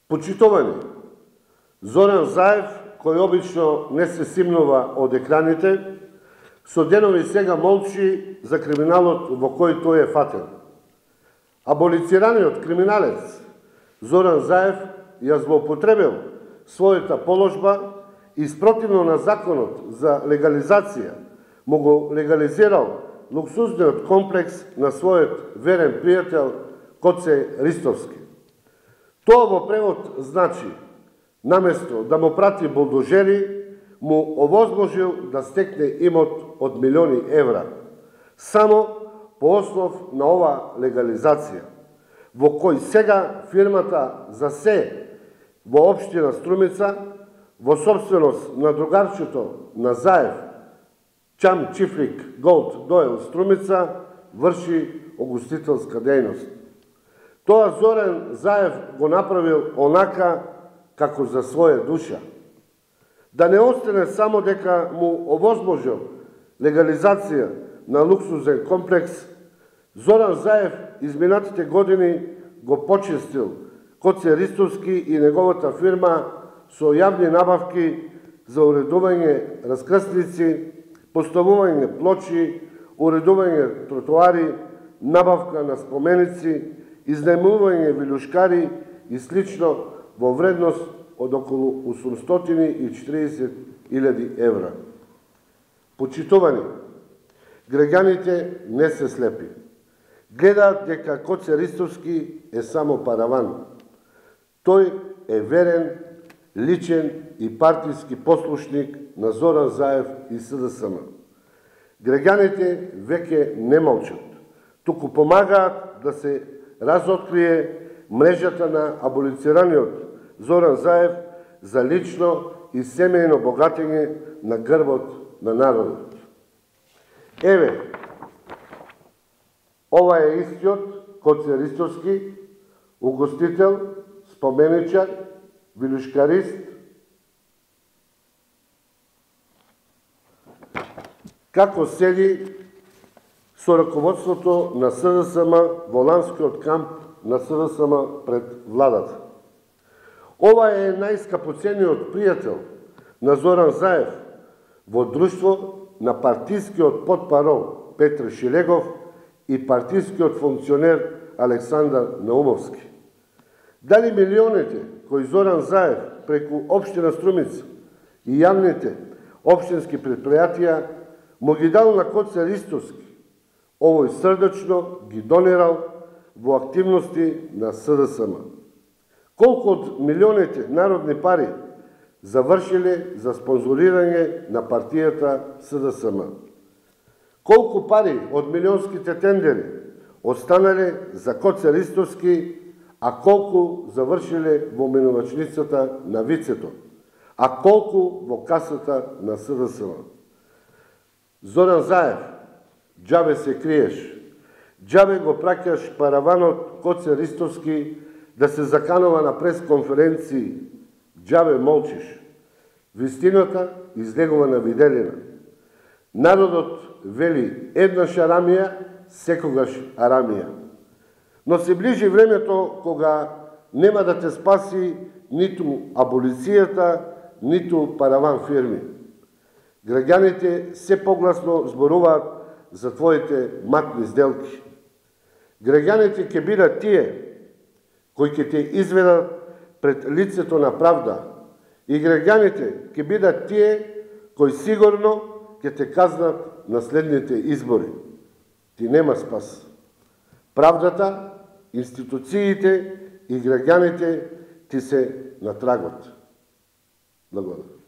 Почитувани, Зоран Заев, кој обично не се симнува од екраните, со денови сега молчи за криминалот во кој тој е фатен. Аболицираниот криминалец Зоран Заев ја злоупотребил својата положба и спротивно на законот за легализација му го легализирал луксузниот комплекс на својот верен пријател Коце Ристовски. Тоа во превод значи, наместо да му прати булдожери, му овозможил да стекне имот од милиони евра, само по основ на ова легализација, во кој сега фирмата за се во општина Струмица, во собственост на другарчето на Заев, Чам Чифлик Голд Дойл Струмица, врши огустителска дејност. Тоа Зоран Заев го направил онака како за своја душа. Да не остане само дека му овозможил легализација на луксузен комплекс, Зоран Заев изминатите години го почестил Коце Ристовски и неговата фирма со јавни набавки за уредување раскрсници, поставување плочи, уредување тротоари, набавка на споменици, изнајмување вилушкари и слично во вредност од околу 840.000 евра. Почитувани, граѓаните не се слепи. Гледаат дека Коце Ристовски е само параван. Тој е верен, личен и партиски послушник на Зоран Заев и СДСМ. Граѓаните веќе не молчат, туку помагаат да се разоткрие мрежата на аболицираниот Зоран Заев за лично и семејно богатење на грбот на народот. Еве, ова е истиот Коце Ристовски, угостител, споменичар, вилушкарист, како седи со раководството на СДСМ во ланскиот камп на СДСМ пред владата. Ова е најскапоцениот пријател на Зоран Заев во друштво на партискиот потпарол Петр Шилегов и партискиот функционер Александар Наумовски. Дали милионите кои Зоран Заев преку општина Струмица и јавните општински предпријатија му ги дал на Коце Ристовски, овој срдечно ги донирал во активности на СДСМ. Колку од милионите народни пари завршиле за спонзорирање на партијата СДСМ? Колку пари од милионските тендери останале за Коце Ристовски, а колку завршиле во менувачницата на Вицето, а колку во касата на СДСМ? Зоран Заев, џабе се криеш, џабе го праќаш параванот Коце Ристовски да се заканува на пресконференции, џабе молчиш. Вистината излегува на виделина. Народот вели еднаш арамија, секогаш арамија. Но се ближи времето кога нема да те спаси ниту аболицијата, ниту параван фирми. Граѓаните се погласно зборуваат за твоите матни сделки. Граѓаните ќе бидат тие кои ќе те изведат пред лицето на правда и граѓаните ќе бидат тие кои сигурно ќе те казнат на следните избори. Ти нема спас. Правдата, институциите и граѓаните ти се на трагот. Благодарам.